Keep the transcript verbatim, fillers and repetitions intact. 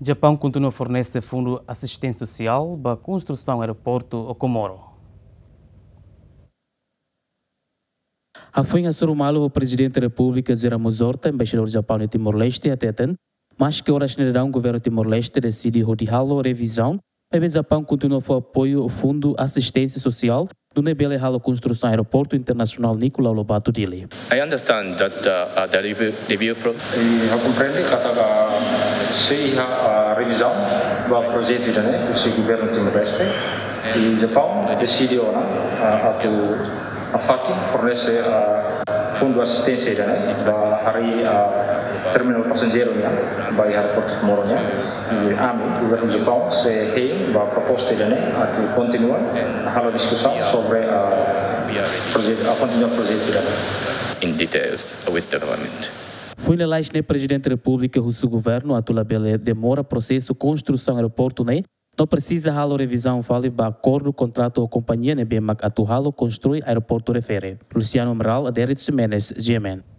Japaun kontinua fornese fundu asisténsia sosiál ba konstrusaun aeroportu Okomoro. Hafoin hasoru malu ho Prezidente Repúblika José Ramos Horta, Embaixadór Japaun iha Timor-Leste hateten, maske oras ne'e daudaun Governu Timor-Leste deside hodi halo revizaun, maibé Japaun kontinua fó apoiu fundu asisténsia sosiál, nune'e bele halo konstrusaun Aeroportu Internasionál Nicolau Lobato Dili. I understand that uh, uh, the review, review pro- I ha'u komprende katak sei iha uh, revizaun ba projetu ida-ne'e husi Governu Timor-Leste. I Japaun deside ona uh, atu hafatin fornese uh, fundu asisténsia ida-ne'e ba harii uh, terminál pasajeiru nian ba iha Aeroportu Okomoro nian. I ami, Governu Japaun, sei hein ba proposta ida-ne'e atu kontinua halo diskusaun sobre uh, projetu, uh, kontinua projetu ida-ne'e. In details with the government. Foin lalais ne'e Prezidente Repúblika husu Governu atu labele demora prosesu konstrusaun aeroportu ne'e, no presiza halo revizaun fali ba akordu kontratu ho kompañia ne'ebé mak atu halo konstrui aeroportu refere. Luciano Amaral, Adérito Ximenes, G M N.